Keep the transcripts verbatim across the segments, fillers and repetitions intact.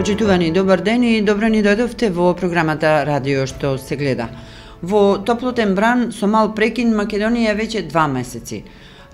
Почитувани, добар ден и добро ни дојдовте во програмата Радио што се гледа. Во топлотен бран со мал прекин Македонија веќе два месеци.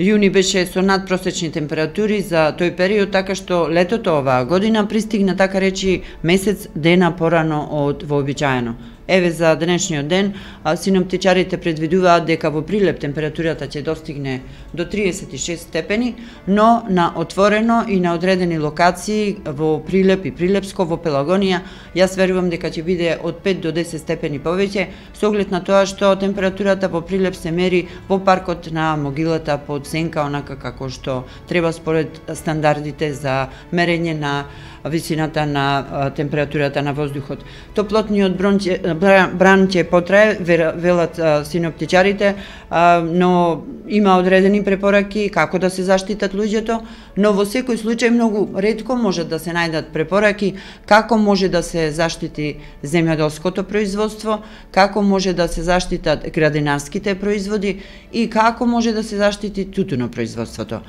Јуни беше со надпросечни температури за тој период, така што летото оваа година пристигна, така речи, месец дена порано од вообичаено. Еве за денешниот ден, синоптичарите предвидуваат дека во Прилеп температурата ќе достигне до триесет и шест степени, но на отворено и на одредени локации во Прилеп и Прилепско, во Пелагонија, јас верувам дека ќе биде од пет до десет степени повеќе, со оглед на тоа што температурата во Прилеп се мери во паркот на Могилата под сенка, онака како што треба според стандардите за мерење на висината на температурата на воздухот. Топлотниот бран ќе потрае, велат синоптичарите, но има одредени препораки како да се заштитат луѓето, но во секој случај многу ретко може да се најдат препораки како може да се заштити земјоделското производство, како може да се заштитат градинарските производи и како може да се заштити тутунопроизводството.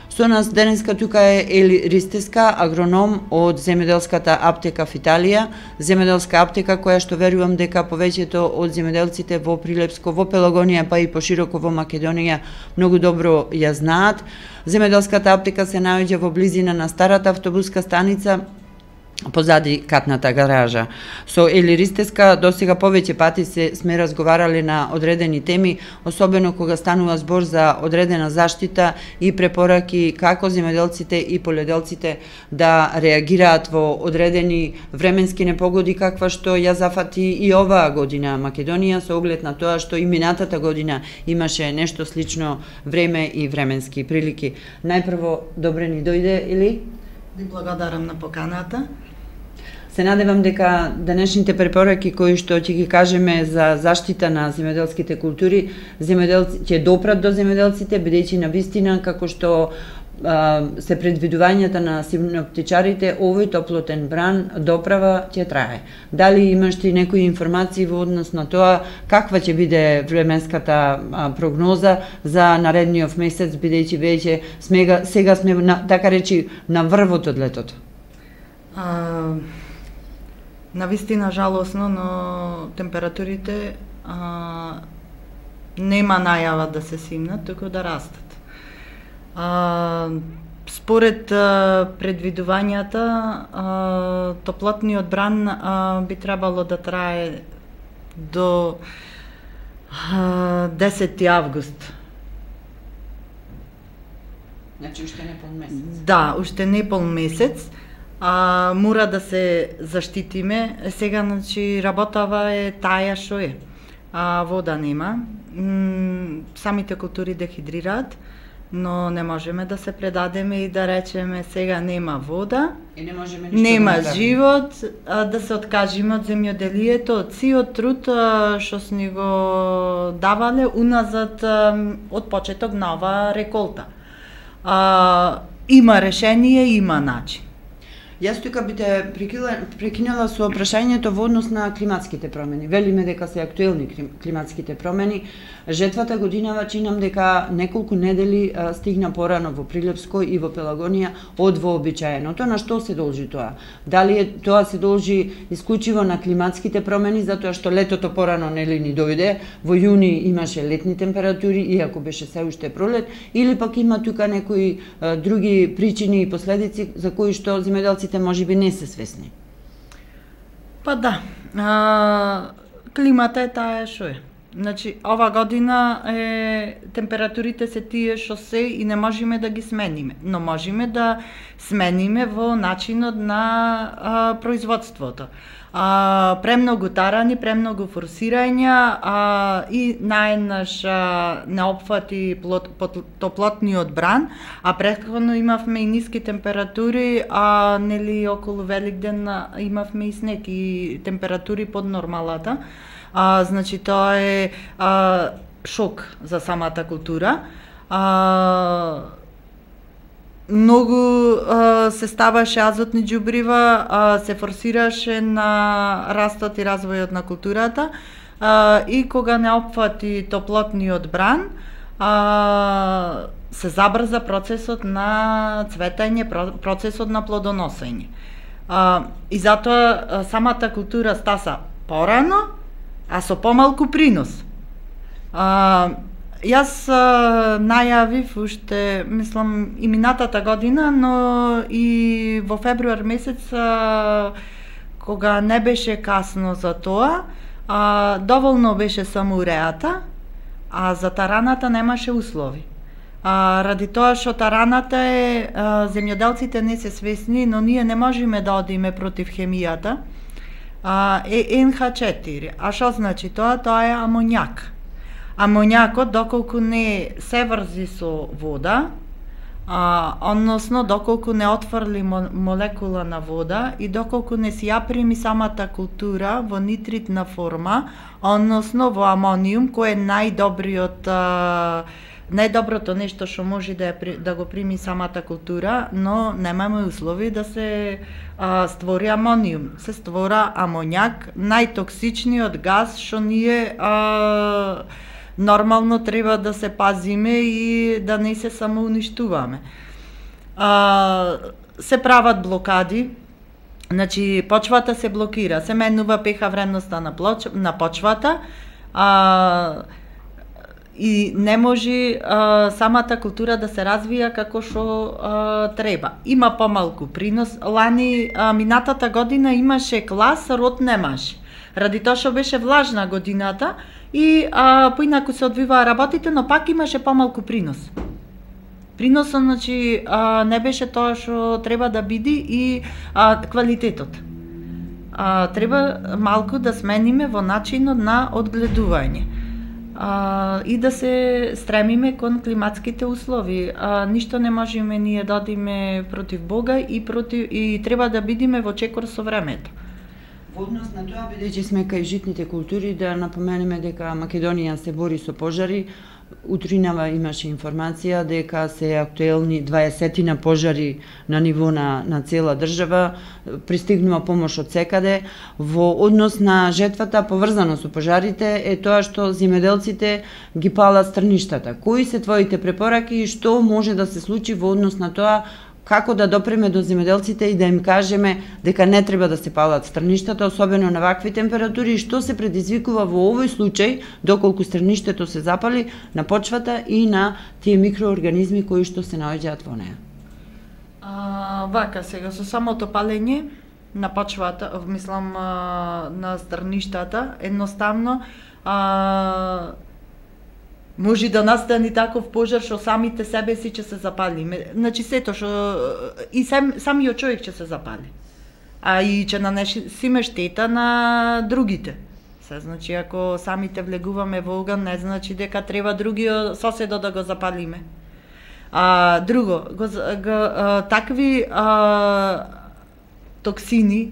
Со нас денеска тука е Ели Ристеска, агроном од земјоделската аптека в Италија, земјоделска аптека која што верувам дека повеќето од земјоделците во Прилепско, во Пелагонија, па и пошироко во Македонија многу добро ја знаат. Земјоделската аптека се наоѓа во близина на старата автобуска станица, позади катната гаража. Со Ели Ристеска досега повеќе пати се сме разговарали на одредени теми, особено кога станува збор за одредена заштита и препораки како земјоделците и полјоделците да реагираат во одредени временски непогоди каква што ја зафати и оваа година Македонија, со оглед на тоа што и минатата година имаше нешто слично време и временски прилики. Најпрво, добре ни дојде, Ели? Ви благодарам на поканата. Се надевам дека денешните препораки кои што ќе ги кажеме за заштита на земјоделските култури, земјоделци ќе допрат до земјоделците, бидејќи на вистина како што а, се предвидувањата на синоптичарите, овој топлотен бран доправа ќе трае. Дали имаш ти некои информации во однос на тоа каква ќе биде временската а, прогноза за наредниот месец, бидејќи веќе сме, сега сме на, така речи на врвот од летото? А... Навистина жалосно, но температурите а, нема најава да се симнат, туку да растат. А, според а, предвидувањата, а, топлотниот бран а, би требало да трае до а, десети август. Значи уште не пол месец. Да, уште не пол месец. А, мора да се заштитиме. Сега, значи, работава е таја што е. А, вода нема. М, самите култури дехидрираат, но не можеме да се предадеме и да речеме сега нема вода, и не можеме ништо нема да живот, а, да се откажиме од земјоделието, од сиот труд а, што сни го давале уназад а, од почеток на оваа реколта. А, има решение, има начин. Јас тука би те прекинала со прашањето во однос на климатските промени. Велиме дека се актуелни климатските промени. Жетвата годинава чинам дека неколку недели а, стигна порано во Прилепско и во Пелагонија од вообичаеното. На што се должи тоа? Дали е, тоа се должи исклучиво на климатските промени, затоа што летото порано нели ни дојде, во јуни имаше летни температури, иако беше се уште пролет, или пак има тука некои а, други причини и последици за кои што земјоделците може би не се свесни? Па да, а, климата е таа што е. Значи, ова година е, температурите се тие што се и не можеме да ги смениме, но можеме да смениме во начинот на а, производството. А, премногу тарани, премногу форсирања а, и наеднаш а, не опфати плот, топлотниот бран, а претходно имавме и ниски температури, а нели околу Великден имавме и снег и температури под нормалата. А, значи тоа е а, шок за самата култура. А, многу а, се ставаше азотни џубрива, а, се форсираше на растот и развојот на културата а, и кога не опфати топлотниот бран, а, се забрза процесот на цветање, процесот на плодоносење. А, и затоа а, самата култура стаса порано, а со помалку принос. А, Јас а, најавив уште, мислам, и минатата година, но и во февруар месец, а, кога не беше касно за тоа, а, доволно беше само уреата, а за тараната немаше услови. А, ради тоа што тараната е, а, земјоделците не се свесни, но ние не можеме да одиме против хемијата, а, е ен ха четири. А што значи тоа? Тоа е амоњак. Амоњакот, доколку не се врзи со вода, а, односно доколку не отфрли молекула на вода и доколку не си ја прими самата култура во нитритна форма, односно во амониум, кој е најдобриот, а, најдоброто нешто што може да, ја, да го прими самата култура, но немаме услови да се а, створи амониум. Се створа амоњак, најтоксичниот газ што ние а, нормално треба да се пазиме и да не се самоуништуваме. А, се прават блокади, значи почвата се блокира, се менува пеха вредноста на, плоч, на почвата, а, и не може а, самата култура да се развија како што а, треба. Има помалку принос. Лани, а, минатата година имаше клас, род немаше. Ради тоа што беше влажна годината и а, поинаку се одвиваа работите, но пак имаше помалку принос. Приносот, значи, а, не беше тоа што треба да биде и а, квалитетот. А, треба малку да смениме во начинот на одгледување. А, и да се стремиме кон климатските услови. А, ништо не можеме ние да одиме против Бога и против и треба да бидеме во чекор со времето. Во однос на тоа, бидејќи сме кај житните култури, да напоменеме дека Македонија се бори со пожари. Утринава имаше информација дека се актуелни дваесетина пожари на ниво на, на цела држава, пристигнува помош од секаде. Во однос на жетвата, поврзано со пожарите, е тоа што земјоделците ги палат стрништата. Кои се твоите препораки и што може да се случи во однос на тоа како да допреме до земјоделците и да им кажеме дека не треба да се палат стрништата, особено на вакви температури, и што се предизвикува во овој случај, доколку стрништето се запали на почвата и на тие микроорганизми кои што се наоѓаат во неа. А, вака сега, со самото палење на почвата, мислам на стрништата, едноставно а, може да настани таков пожар што самите себе си ќе се запалиме. Значи сето што и сам, самиот човек ќе се запали. А и ќе нанесиме штета на другите. Се значи ако самите влегуваме во оган, не значи дека треба другиот соседот да го запалиме. А друго, го, го, а, такви а, токсини,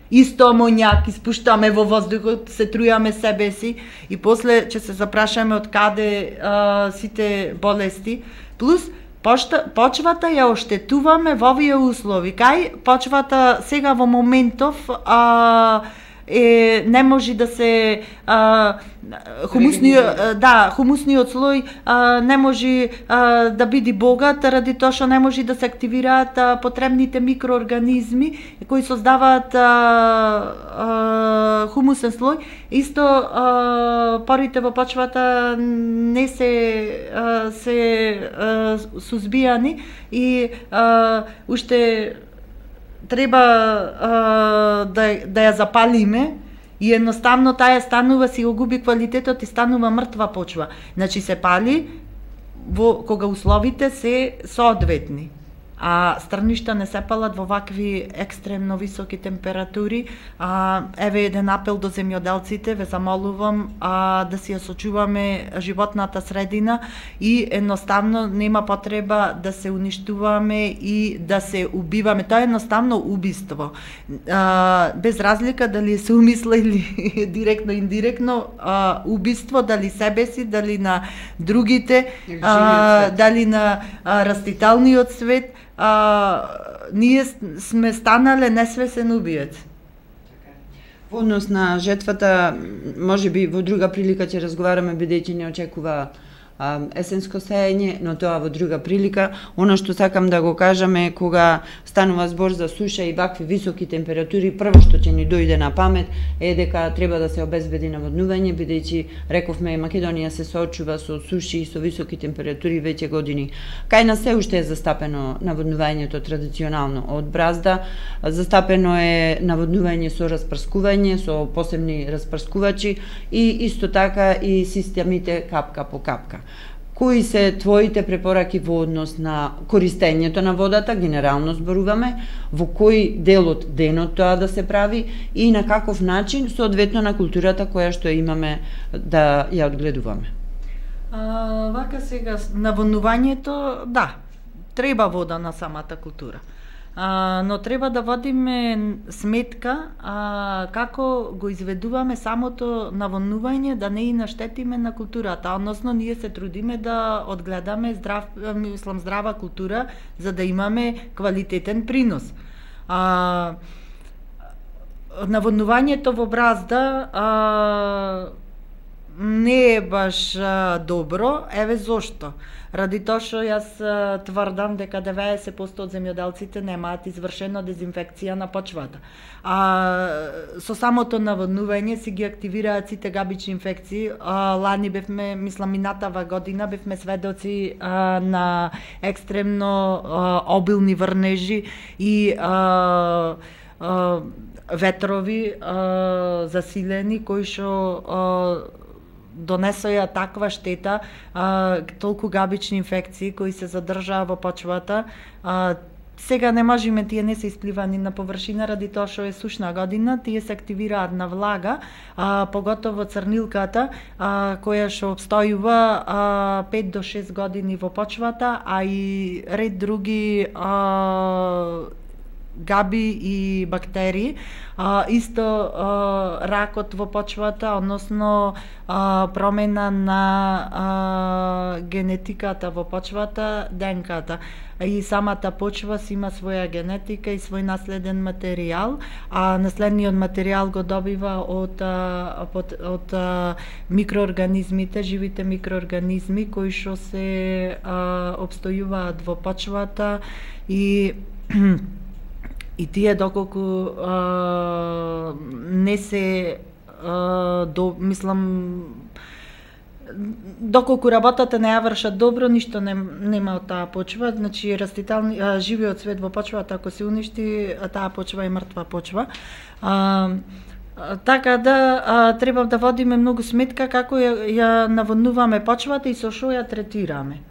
исто амоњак испуштаме во воздухот, се трујаме себе си и после ќе се запрашаме од каде а, сите болести. Плюс почта, почвата ја оштетуваме во овие услови. Кај почвата сега во моментов а, е, не може да се а, хумусниот да хумусниот слој а, не може а, да биде богат ради тоа што не може да се активираат а, потребните микроорганизми кои создаваат а, а, хумусен слој. Исто а, порите во почвата не се а, се а, сузбијани и а, уште треба а, да, да ја запалиме и едноставно таа станува, си го губи квалитетот и станува мртва почва. Значи се пали во кога условите се соодветни. А стрништа не се палат во вакви екстремно високи температури. А, еве еден апел до земјоделците, ве замолувам а, да си ја сочуваме животната средина и едноставно нема потреба да се уништуваме и да се убиваме. Тоа е едноставно убиство. А, без разлика дали се умисла или директно индиректно, а, убиство дали себе си, дали на другите, а, дали на а, растителниот свет. А, ние сме станале несвесен убиец. Во однос на жетвата, може би во друга прилика ќе разговараме, бидејќи не очекува есенско сеење, но тоа во друга прилика. Она што сакам да го кажам е кога станува збор за суша и вакви високи температури, прво што ќе ни дојде на памет е дека треба да се обезбеди наводнување, бидејќи рековме Македонија се соочува со суши и со високи температури веќе години. Кај нас се уште е застапено наводнувањето традиционално од бразда, застапено е наводнување со распрскување, со посебни распрскувачи и исто така и системите капка по капка. Кои се твоите препораки во однос на користењето на водата, генерално зборуваме, во кој дел од денот тоа да се прави и на каков начин, соодветно на културата која што имаме да ја одгледуваме? А, вака сега, наводнувањето, да, треба вода на самата култура. А, но треба да водиме сметка а, како го изведуваме самото наводнување да не и наштетиме на културата, односно ние се трудиме да одгледаме здрав, мислам, здрава култура за да имаме квалитетен принос. А, наводнувањето во бразда а, не е баш а, добро, еве зошто. Ради тоа што јас а, тврдам дека деветдесет проценти од земјоделците немаат извршена дезинфекција на почвата. А со самото наводнување си ги активираат сите габични инфекции. А, лани бевме, мислам, минатава година бевме сведоци а, на екстремно а, обилни врнежи и а, а, ветрови а, засилени кои што донесоја таква штета, а, толку габични инфекции кои се задржаа во почвата. А, сега не можеме, тие не се испливани на површина ради тоа што е сушна година, тие се активираат на влага, а, поготово црнилката, а, која што обстојува а, пет до шест години во почвата, а и ред други а, габи и бактерии, а, исто а, ракот во почвата, односно а, промена на а, генетиката во почвата, ДНК-та. И самата почва си има своја генетика и свој наследен материјал, а наследниот материјал го добива од, од, од микроорганизмите, живите микроорганизми кои што се а, обстојуваат во почвата и и тие доколку а, не се а, до, мислам, доколку работата не ја вршат добро, ништо не, нема од таа почва, значи растителни, а, живиот свет во почвата ако се уништи, таа почва е мртва почва. А, така да а, треба да водиме многу сметка како ја, ја наводнуваме почвата и со што ја третираме.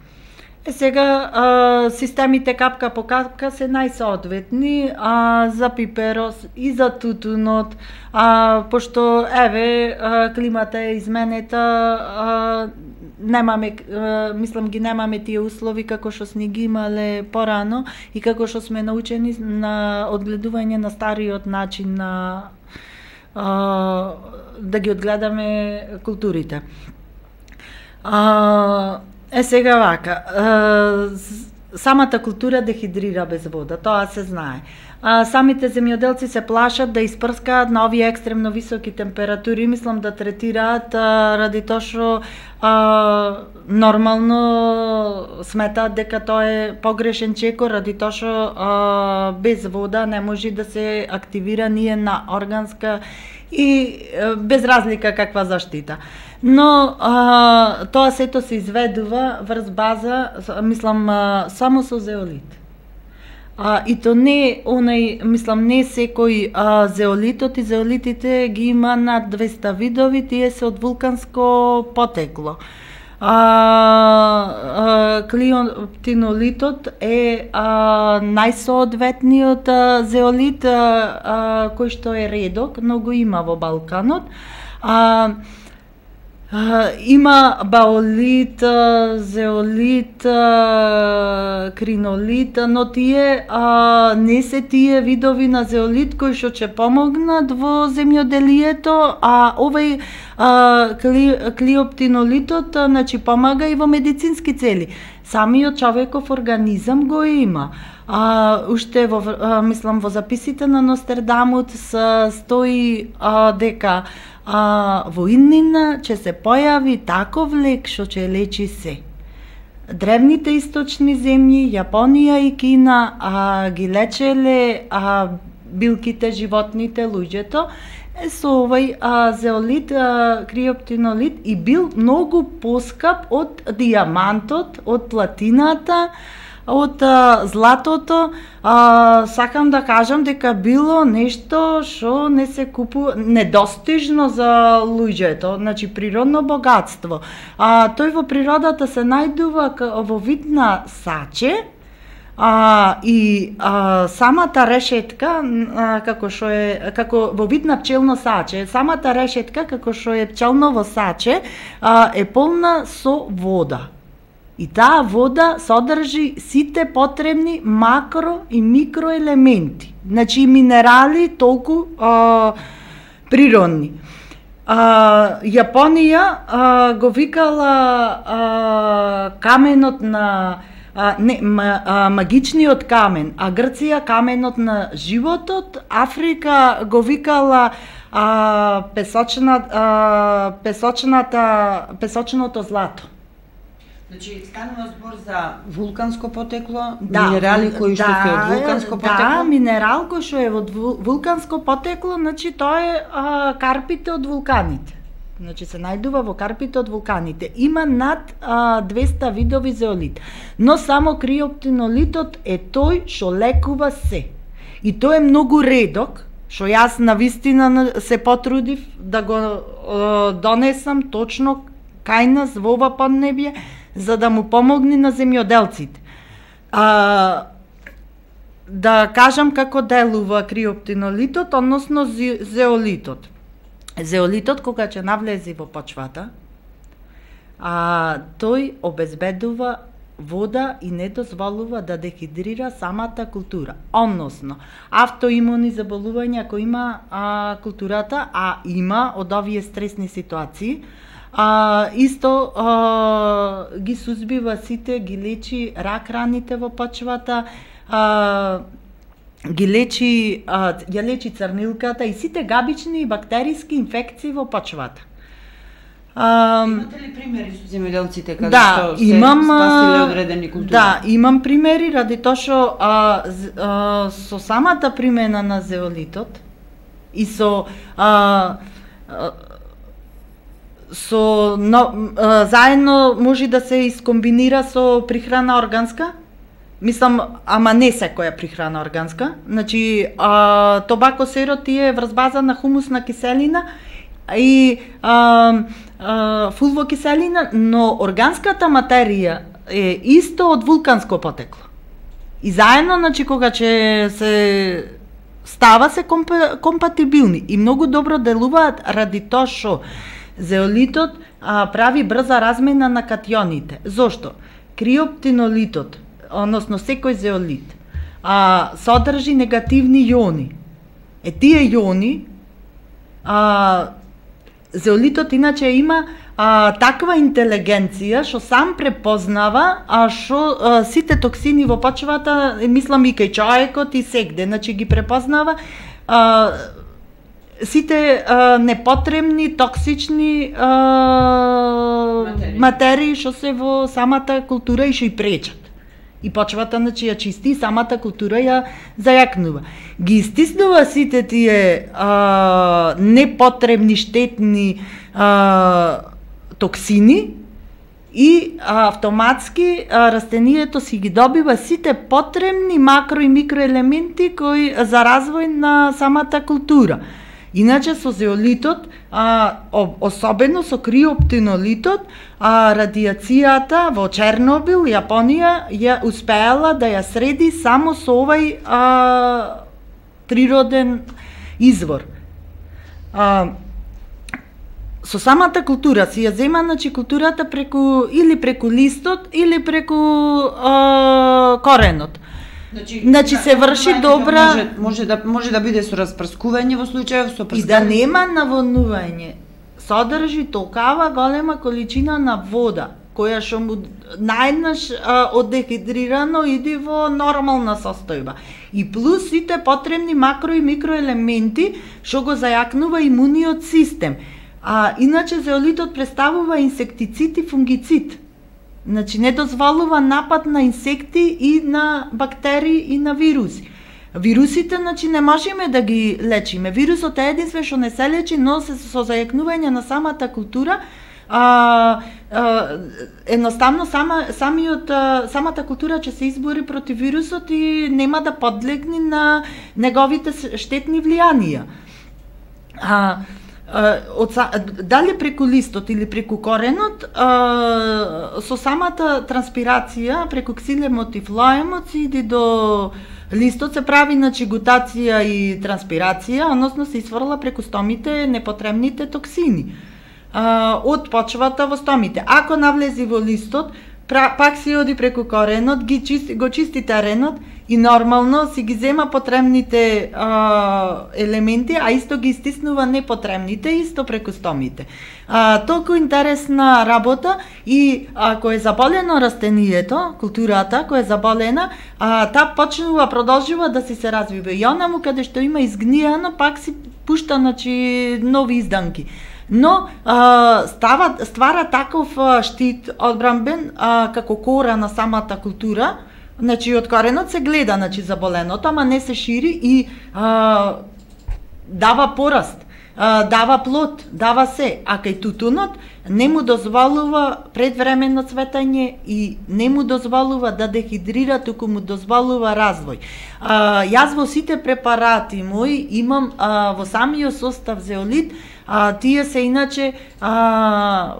Е сега а, системите капка по капка се најсоодветни а, за пиперос и за тутунот, а, пошто еве а, климата е изменета, а, немаме, а, мислам ги немаме тие услови како што сни ги имале порано и како што сме научени на одгледување на стариот начин на а, да ги одгледаме културите. А, Е сега вака, е, самата култура дехидрира без вода, тоа се знае. А, самите земјоделци се плашат да испрскаат на овие екстремно високи температури, мислам да третираат а, ради тоа што а, нормално сметаат дека тоа е погрешен чекор, ради тоа што а, без вода не може да се активира ние на органска и без разлика каква заштита. Но а, тоа сето се изведува врз база, мислам, а, само со зеолит. А, и то не онај, мислам, не секој а, зеолитот и зеолитите ги има над двеста видови, тие се од вулканско потекло. А, а, клиоптинолитот е а, најсоодветниот а, зеолит а, а, кој што е редок, но го има во Балканот. А, Uh, има баолит, зеолит, кринолит, но тие uh, не се тие видови на зеолит кои што ќе помогнат во земјоделието, а овој uh, кли, клиоптинолитот uh, значи помага и во медицински цели. Самиот човеков организам го има. А, уште во, а, мислам, во записите на Нострадамут стои а, дека а, во иднина ќе се појави таков лек што ќе лечи се. Древните источни земји, Јапонија и Кина, а, ги лечеле а, билките, животните, луѓето, со овој а, зеолит, а, криоптинолит и бил многу поскап од дијамантот, од платината, од а, златото. А, сакам да кажам дека било нешто што не се купува, недостижно за луѓето, значи природно богатство. А, тој во природата се најдува во вид на саче, А, и а, самата решетка, а, како што е, како во вид на пчелно саче, самата решетка како што е пчелново саче, а, е полна со вода. И таа вода содржи сите потребни макро и микроелементи, значи минерали толку а, природни. А, Јапонија а, го викала а, каменот на А, не, ма, а, магичниот камен, а Грција каменот на животот, Африка го викала а, песочна, а, песочната, песочното злато. Значи, станува збор за вулканско потекло, да, минерали кои што да, се од вулканско да, потекло? Да, минерал кој што е од вулканско потекло, значи тоа е а, карпите од вулканите. Значи се најдува во карпите од вулканите. Има над а, двеста видови зеолит, но само криоптинолитот е тој што лекува се. И тој е многу редок, што јас навистина се потрудив да го а, донесам точно кај нас во ова поднебје, за да му помогне на земјоделците. А, да кажам како делува криоптинолитот, односно зеолитот. Зеолитот, кога ќе навлези во почвата, а, тој обезбедува вода и не дозволува да дехидрира самата култура. Односно, автоимуни заболувања кои има а, културата, а има од овие стресни ситуации, а, исто а, ги сузбива сите, ги лечи рак раните во почвата, а, ги лечи, а, ја лечи црнилката и сите габични и бактериски инфекции во почвата. А, имате ли примери со земјоделците каде да, што се имам, спасиле одредени култури? Да, имам примери ради тоа што а, а, со самата примена на зеолитот и со а, а, со но, а, заедно може да се искомбинира со прихрана органска. Мислам, ама не секоја прихрана органска. Значи, а, тобако сиро ти е врз база на хумусна киселина и а, а, фулво киселина, но органската материја е исто од вулканско потекло. И заедно, значи, кога ќе се става се комп, компатибилни и многу добро делуваат ради тоа што зеолитот а, прави брза размена на катионите. Зошто? Криоптинолитот, односно секој зеолит, а, содржи негативни јони. Е, тие јони, а, зеолитот иначе има а, таква интелигенција што сам препознава а што а, сите токсини во почвата, мислам и кај човекот и сегде, значи ги препознава а, сите а, непотребни, токсични а, материи. материи што се во самата култура и што и пречат. И почвата, значи, ја чисти, самата култура ја зајакнува. Ги истиснува сите тие а, непотребни, штетни а, токсини и а, автоматски а, растението си ги добива сите потребни макро и микроелементи кои за развој на самата култура. Иначе со зеолитот, а, особено со криоптинолитот, а, радиацијата во Чернобил, Јапонија, ја успеала да ја среди само со овај а, природен извор. А, со самата култура си ја зема, значи, културата преку или преку листот или преку а, коренот. Значи, значи се врши добра, може, може да може да биде со распрскување во случајов со прскање. И да нема наводнување. Содржи толкава голема количина на вода која што му најднаш оддехидрирано иди во нормална состојба. И плюс сите потребни макро и микроелементи што го зајакнува имуниот систем. А иначе зеолитот представува инсектицид и фунгицид. Значи не дозволува напад на инсекти и на бактерии и на вируси. Вирусите, значи, не можеме да ги лечиме. Вирусот е единствен што не се лечи, но се со зајакнување на самата култура, а, а, едноставно сама, самиот, а, самата култура ќе се избори против вирусот и нема да подлегне на неговите штетни влијанија. А, Од, дали преку листот или преку коренот, а, со самата транспирација, преку ксилемот и флоемот се иде до листот, се прави, значи, гутација и транспирација, односно се изфрла преку стомите непотребните токсини а, од почвата во стомите. Ако навлези во листот, пак се оди преку коренот, ги чисти, го чисти теренот и нормално си ги зема потребните а, елементи, а исто ги стиснува непотребните, исто преку стомите. А, толку интересна работа и ако е заболено растението, културата, ако е заболена, а, та почнува, продолжува да си се развива. И онаму каде што има изгнијано, пак си пушта, значи, нови изданки. Но а, става, ствара таков а, штит одбранбен а, како кора на самата култура. Значи од коренот се гледа, значи, заболеното, ама не се шири и а, дава пораст, а, дава плод, дава се. А кај тутунот не му дозволува предвременно цветање и не му дозволува да дехидрира, туку му дозволува развој. А, јас во сите препарати мои имам а, во самиот состав зеолит. А, тие се иначе а,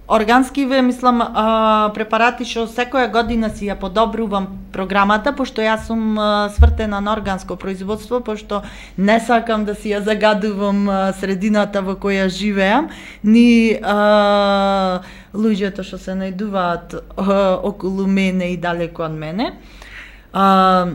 органскиве, мислам, а, препарати што секоја година си ја подобрувам програмата, пошто јас сум а, свртена на органско производство, пошто не сакам да си ја загадувам а, средината во која живеам, ни а, луѓето што се најдуваат а, околу мене и далеку од мене. А,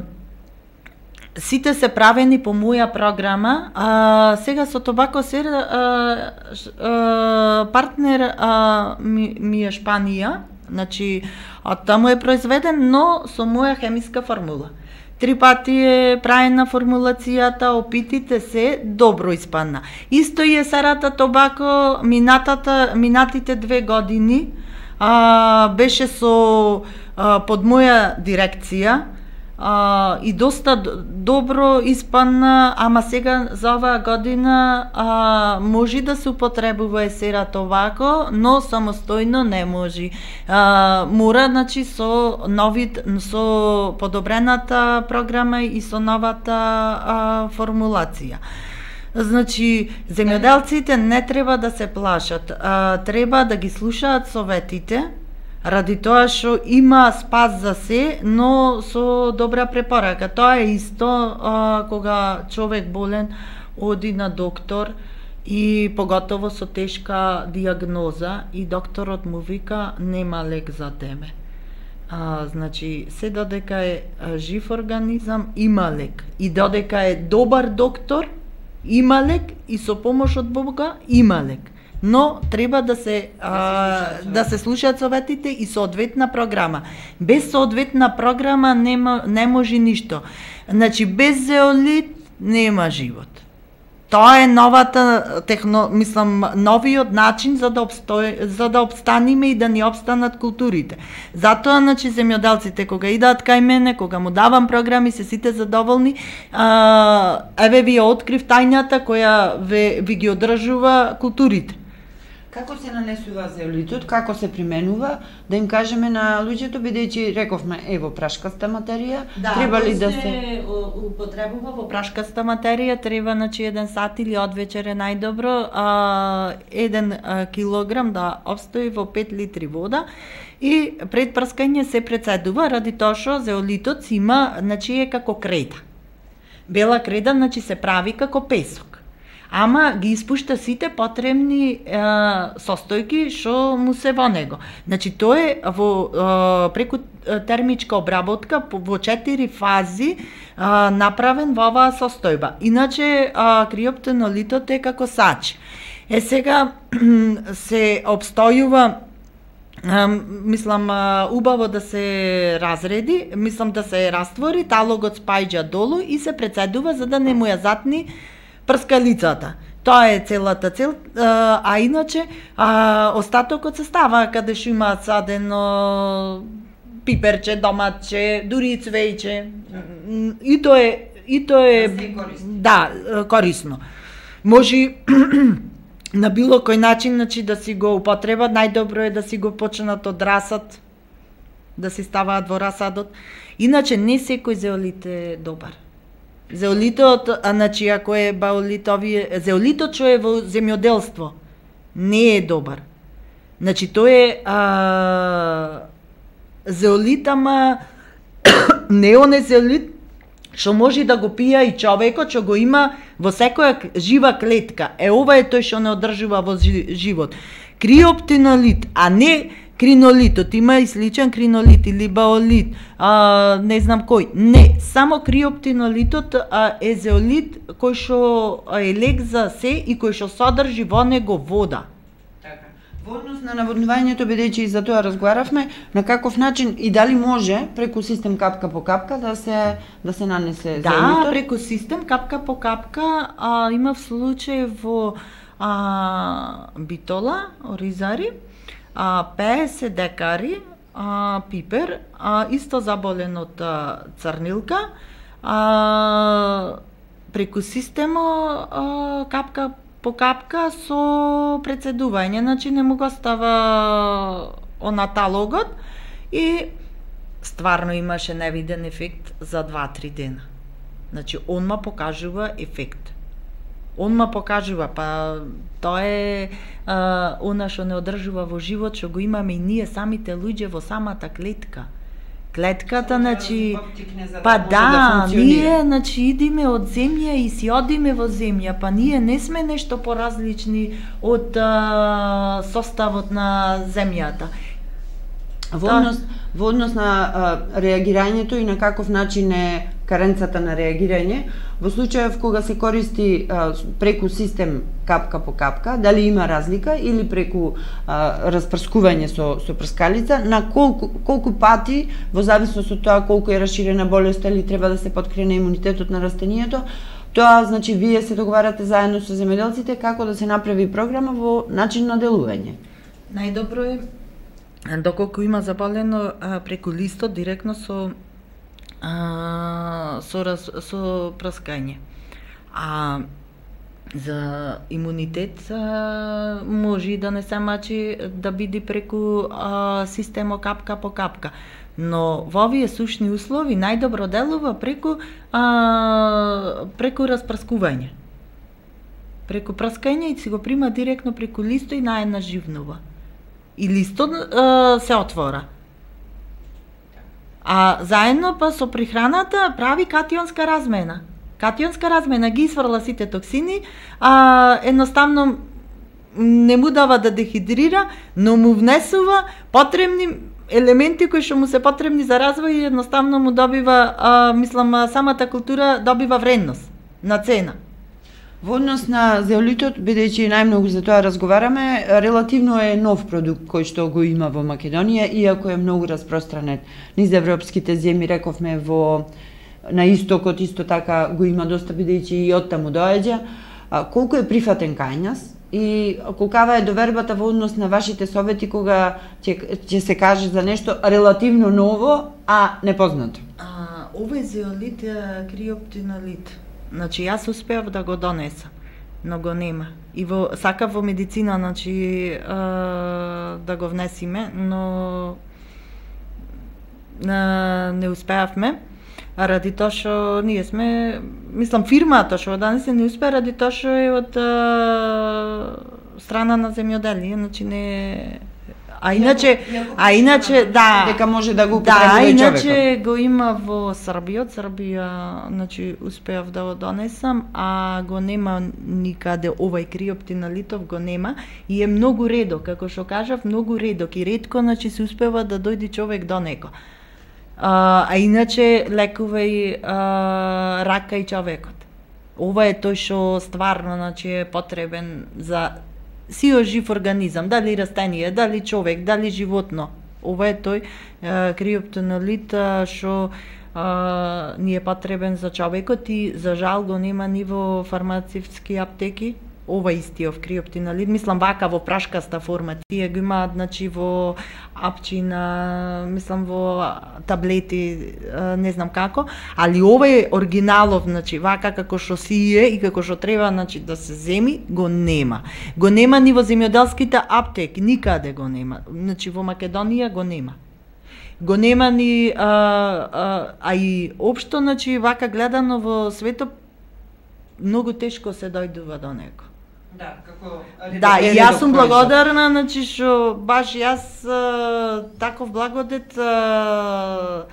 Сите се правени по моја програма. А, сега со Тобако Сер а, а, партнер а, ми, ми е Шпанија, значи од таму е произведен, но со моја хемиска формула. Три пати е праена формулацијата, опитите се добро испадна. Исто и е Сарата Тобако минатата, минатите две години а, беше со а, под моја дирекција. Uh, и доста добро испадна, ама сега за оваа година uh, може да се употребува есерата овако, но самостојно не може. Uh, мора, значи, со нови, со подобрената програма и со новата uh, формулација. Значи, земјоделците не треба да се плашат, uh, треба да ги слушаат советите, ради тоа што има спас за се, но со добра препорака. Тоа е исто а, кога човек болен оди на доктор и поготово со тешка диагноза и докторот му вика нема лек за тебе. А, значи, се додека е жив организам, има лек. И додека е добар доктор, има лек и со помош од Бога, има лек. Но треба да се а, да се слушаат советите и соодветна програма. Без соодветна програма нема не може ништо. Значи без зеолит нема живот. Тоа е новата техно, мислам, новиот начин за да обстои, за да обстаниме и да ни обстанат културите. Затоа, значи, земјоделците кога идат кај мене, кога му давам програми, се сите задоволни. А, еве ви ја открив тајната која ви, ви ги одржува културите. Како се нанесува зеолитот, како се применува, да им кажеме на луѓето, бидејќи рековме, ево, прашкаста материја, да, треба ли да се... се употребува во прашкаста материја, треба, значи, еден сат или од вечер е најдобро, а, еден а, килограм да обстои во пет литри вода и пред прскање се прецедува, ради тоа што зеолитот си има, значи, е како креда. Бела креда, значи, се прави како песок. Ама ги испушта сите потребни е, состојки што му се во него. Значи, тоа е во, е, преку термичка обработка во четири фази е, направен во оваа состојба. Иначе, криоптенолитот е како сач. Е, сега се обстојува, мислам, убаво да се разреди, мислам да се раствори, талогот спајџа долу и се прецедува за да не му ја затни прскалицата. Тоа е целата цел, а, а иначе а, остатокот се става каде што има садено пиперче, доматче, дури и цвејче. И тоа е и тоа е да, корисно. Може на било кој начин, значи да си го употреба, најдобро е да си го почнат од расад, да си ставаат во расадот. Иначе не секој зеолит е добар. Зеолитот, а значи ако е баолит, овие зеолитот што е во земјоделство не е добар. Значи тој е а, зеолит, ама не он е зеолит што може да го пија и човекот, што го има во секоја жива клетка. Е, ова е тој што не одржува во живот. Криоптинолит, а не кринолитот. Има и сличен кринолит или баолит, а, не знам кој. Не, само криоптинолитот а, е зеолит кој што е лек за се и кој што содржи во него вода. Во однос на наводнувањето, бидејќи и за тоа разговаравме, на каков начин и дали може преку систем капка по капка да се да се нанесе да, зеолитот? Да, преку систем капка по капка а, има в случај во а, Битола, Оризари, а, петдесет декари а, пипер, а, исто заболен од а, црнилка, а, преку системо а, капка по капка со прецедување, значи не му го става онаталогот и стварно имаше невиден ефект за два-три дена. Значи, он ма покажува ефект. Он ма покажува, па тоа е а, она што не одржува во живот, што го имаме и ние самите луѓе во самата клетка. Клетката, значи, па да, ние, значи, идиме од земја и си одиме во земја, па ние не сме нешто поразлични од а, составот на земјата. Во однос, во однос на а, реагирањето и на каков начин е каренцата на реагирање, во случајов кога се користи а, преку систем капка по капка, дали има разлика или преку а, распрскување со, со прскалица, на колку, колку пати, во зависност од тоа колку е расширена болеста или треба да се поткрене имунитетот на растенијето, тоа значи вие се договарате заедно со земјоделците како да се направи програма во начин на делување. Најдобро е доколку има заболено а, преку листот директно со а, со раз, со прскање. А за имунитет а, може и да не се мачи да биде преку а, системо капка по капка. Но во овие сушни услови најдобро делува преку а, преку распрскување. Преку прскање и си го прима директно преку листот и наеднаш живнува. И листот а, се отвора. А заедно па со прихраната прави катионска размена. Катионска размена ги сврла сите токсини, а едноставно не му дава да дехидрира, но му внесува потребни елементи кои што му се потребни за развој и едноставно му добива, а, мислам, самата култура добива вредност на цена. Во однос на зеолитот, бидејќи најмногу за тоа разговараме, релативно е нов продукт кој што го има во Македонија, иако е многу распространет низ европските земји, рековме во на истокот исто така го има доста, бидејќи и оттаму доаѓа. Колку е прифатен кај нас и колкава е довербата во однос на вашите совети кога ќе, ќе се каже за нешто релативно ново, а непознато? А, овој зеолит е криоптинолит. Значи, јас успеав да го донесам, но го нема. И во, сакав во медицина, значи, а, да го внесиме, но а, не успеавме. Ради тоа што ние сме, мислам, фирмата што данес не успеа, ради тоа што е од а, страна на земјоделие, значи не. А иначе, а иначе да, дека може да го употреби да, иначе човекот. го има во Србија, од Србија, значи успеав да го донесам, а го нема никаде овој криоптинолитов го нема и е многу редок, како што кажав, многу редок и ретко, значи се успева да дојде човек до него. А, а иначе лекува и а, рака и човекот. Ова е тој што стварно, значи, е потребен за сиот жив организам, дали растение, дали човек, дали животно. Ова е тој е, криоптинолит што ни е потребен за човекот и за жал го нема ни во фармацевтски аптеки, ова истиот криоптинолид, мислам вака во прашкаста форма, тие го имаат значи во апчина, мислам во таблети, не знам како, али овој оригиналов, значи вака како што си е и како што треба значи да се земи, го нема. Го нема ни во земјоделските аптеки, никаде го нема. Значи во Македонија го нема. Го нема ни а, а, а и општо значи вака гледано во светот многу тешко се дојдува до него. Да, како Да, и јас сум благодарна, значи што баш јас а, таков благодет а,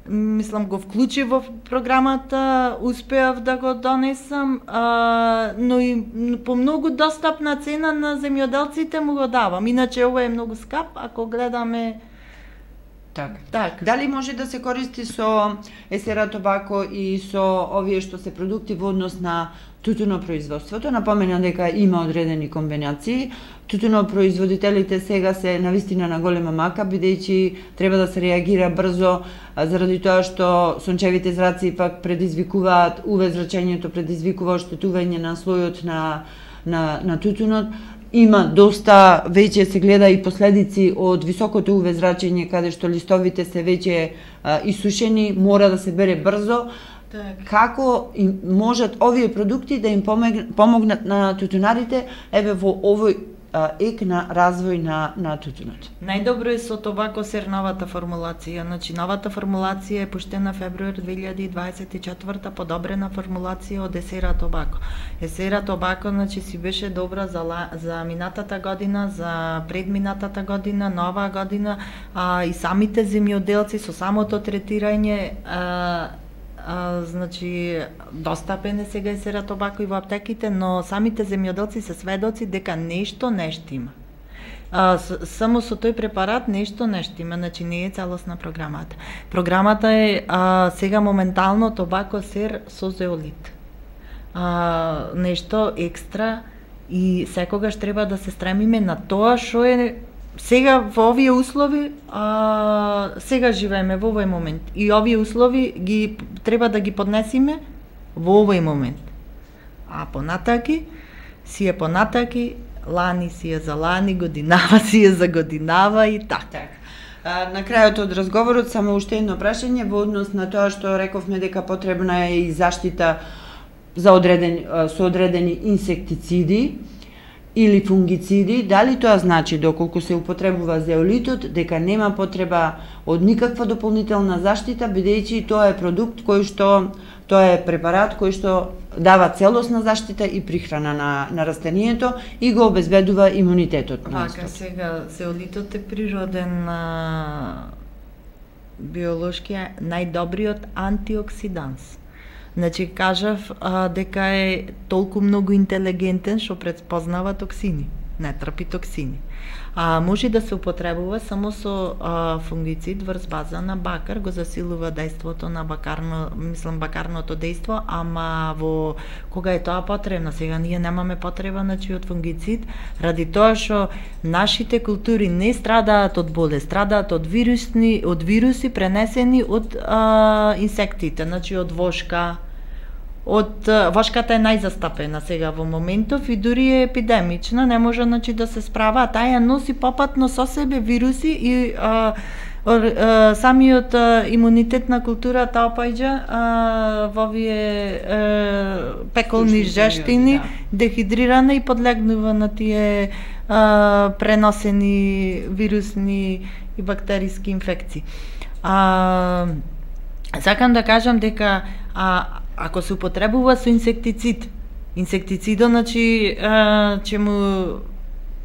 мислам го вклучив во програмата, успеав да го донесам, а, но и по многу достапна цена на земјоделците му го давам. Иначе ова е многу скап, ако гледаме. Так. Так. Дали може да се користи со есера тобако и со овие што се продукти во однос на тутунопроизводството? Напомена дека има одредени комбинации. Тутунопроизводителите сега се навистина на голема мака, бидејќи треба да се реагира брзо, заради тоа што сончевите зраци пак предизвикуваат, УВ зрачењето предизвикува оштетување на слојот на, на, на тутунот. Има доста, веќе се гледа и последици од високото УВ зрачење, каде што листовите се веќе а, исушени, мора да се бере брзо. Так. Како им можат овие продукти да им помогнат на тутунарите, еве во овој а, ек на развој на, на тутунот? Најдобро е со тобако сер новата формулација. Значи, новата формулација е пуштена февруари две илјади и дваесет и четврта, подобрена формулација од есера тобако. Есера тобако, значи, си беше добра за, за минатата година, за предминатата година, нова година, а, и самите земјоделци со самото третирање, а, А, значи, достапен е сега есера тобако и во аптеките, но самите земјоделци се сведоци дека нешто не штима. А, с, само со тој препарат нешто не штима, значи не е целосна програмата. Програмата е а, сега моментално тобако сер со зеолит. А, нешто екстра и секогаш треба да се стремиме на тоа што е сега во овие услови, а, сега живееме во овој момент и овие услови ги треба да ги поднесиме во овој момент. А понатаки си е понатаки, лани си е за лани, годинава си е за годинава и така. Так. А, на крајот од разговорот само уште едно прашање во однос на тоа што рековме дека потребна е и заштита за одредени со одредени инсектициди или фунгициди. Дали тоа значи доколку се употребува зеолитот дека нема потреба од никаква дополнителна заштита, бидејќи тоа е продукт кој што тоа е препарат кој што дава целосна заштита и прихрана на, на растението и го обезбедува имунитетот на истот. Вака сега зеолитот е природен а, биолошки најдобриот антиоксиданс. Значи, кажав а, дека е толку многу интелигентен што предпознава токсини, не трпи токсини. А, може да се употребува само со а, фунгицид врз база на бакар, го засилува дејството на бакарно, мислам бакарното дејство, ама во кога е тоа потребно. Сега ние немаме потреба значи од фунгицид, ради тоа што нашите култури не страдаат од болест, страдаат од вирусни, од вируси пренесени од а, инсектите, значи од вошка. Од вошката е најзастапена сега во моментов и дури е епидемична, не може значи да се справа, таа ја носи попатно со себе вируси и а, а, самиот а, имунитет на културата опаѓа во овие пеколни жештини, да. Дехидрирана и подлегнува на тие а, преносени вирусни и бактериски инфекции. А, сакам да кажам дека а, ако се употребува со инсектицид, инсектицидот, значи, ќе му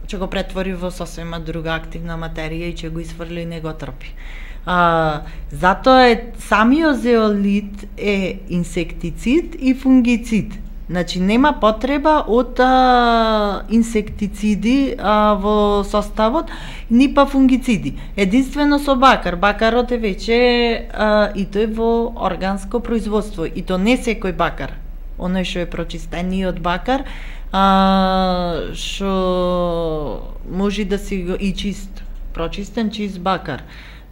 ќе го претвори во сосема друга активна материја и ќе го изфрли и не го трпи. А, затоа е самиот зеолит е инсектицид и фунгицид. Значи нема потреба од а, инсектициди а, во составот, ни па фунгициди. Единствено со бакар. Бакарот е веќе а, и тој во органско производство. И то не секој бакар. Оној што е прочистениот бакар, а, што може да си го и чист, прочистен чист бакар.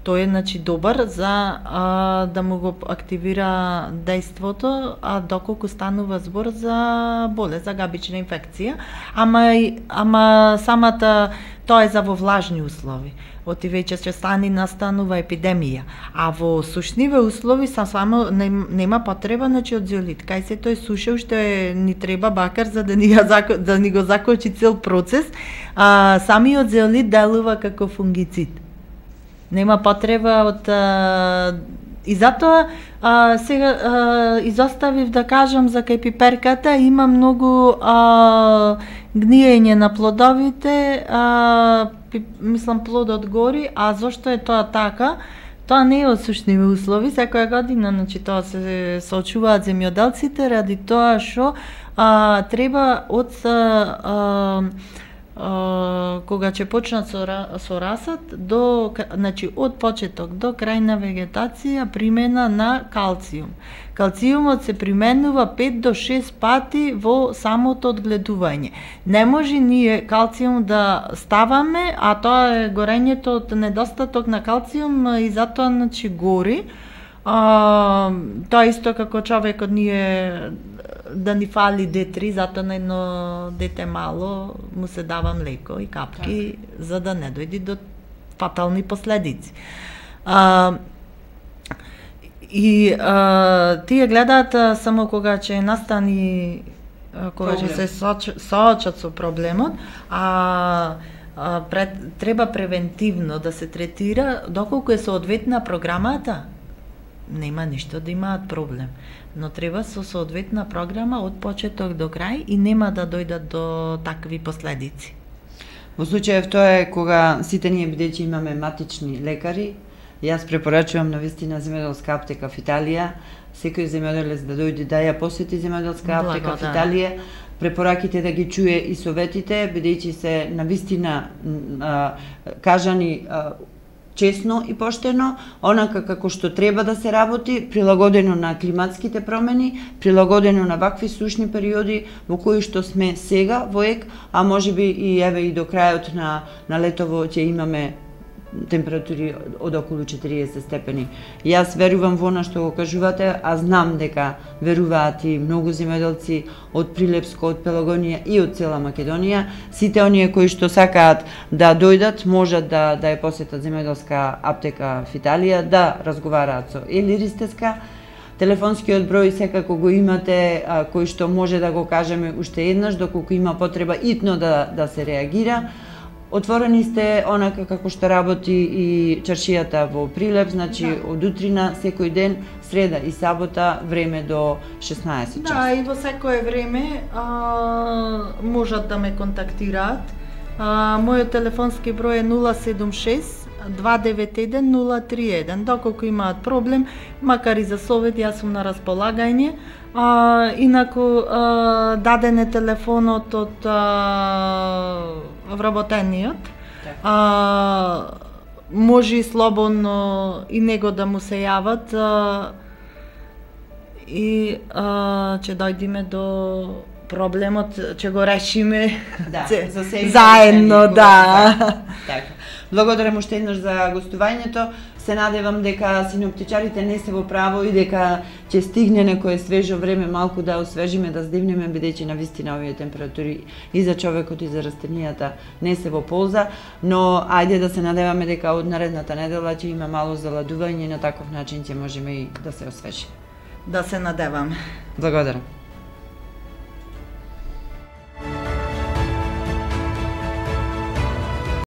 Тој е значи добар за а, да му го активира дејството, а доколку станува збор за болест, за габична инфекција, ама ама самата тоа е за во влажни услови. Оти веќе ќе стани настанува епидемија, а во сушниве услови са само нема потреба значи од зеолит. Кај се тој суша уште ни треба бакар за да ни ја, да ни го закочи цел процес, а самиот зеолит делува како фунгицид. Нема потреба од а, и затоа а, сега а, изоставив да кажам за кај пиперката, има многу а, гниење на плодовите, а, пи, мислам плодот гори, а зошто е тоа така? Тоа не е од сушниви услови, секоја година значи тоа се соочуваат земјоделците ради тоа што а, треба од а, Uh, кога ќе почнат со, со расад, до, значи, од почеток до крај на вегетација примена на калциум. Калциумот се применува пет до шест пати во самото одгледување. Не може ние калциум да ставаме, а тоа е горењето од недостаток на калциум и затоа значи гори. А, тоа исто како човекот ние да ни фали Д три, затоа на едно дете мало му се дава млеко и капки, так, за да не дојди до фатални последици. А, и а, тие гледаат а, само кога ќе настани, а, кога ќе се соочат со проблемот, а а, пред, треба превентивно да се третира, доколку е соодветна програмата, нема ништо да имаат проблем, но треба со соодветна програма од почеток до крај и нема да дојдат до такви последици. Во случајов тоа е кога сите ние бидејќи имаме матични лекари, јас препорачувам на вистина земјоделска аптека в Италија, секој земјоделец да дојде да ја посети земјоделска аптека в Италија, препораките да ги чуе и советите, бидејќи се на вистина а, кажани а, честно и поштено, онака како што треба да се работи, прилагодено на климатските промени, прилагодено на вакви сушни периоди во кои што сме сега во ек, а можеби и еве и до крајот на на летово ќе имаме температури од околу четириесет степени. Јас верувам во она што го кажувате, а знам дека веруваат и многу земјоделци од Прилепско, од Пелагонија и од цела Македонија. Сите оние кои што сакаат да дојдат, можат да да ја посетат земјоделска аптека в Италија, да разговараат со Ели Ристеска. Телефонскиот број секако го имате, а, кој што може да го кажеме уште еднаш, доколку има потреба итно да да се реагира. Отворени сте онака како што работи и чаршијата во Прилеп, значи да, од утрина секој ден, среда и сабота, време до шеснаесет часот. Да, и во секое време а, можат да ме контактираат. А, мојот телефонски број е нула седум шест два девет еден нула три еден. Доколку имаат проблем, макар и за совет, јас сум на располагање. А, инаку а, даден е телефонот од а, вработениот. А, може и слободно и него да му се јават а, и а, ќе дојдеме до проблемот, ќе го решиме да, за заедно, да. Така. Благодарам уште еднаш за гостувањето. Се надевам дека синоптичарите не се во право и дека ќе стигне некое свежо време, малку да освежиме, да здивнеме, бидејќи на вистина овие температури и за човекот и за растенијата не се во полза, но ајде да се надеваме дека од наредната недела ќе има мало заладување и на таков начин ќе можеме и да се освежиме. Да се надеваме. Благодарам.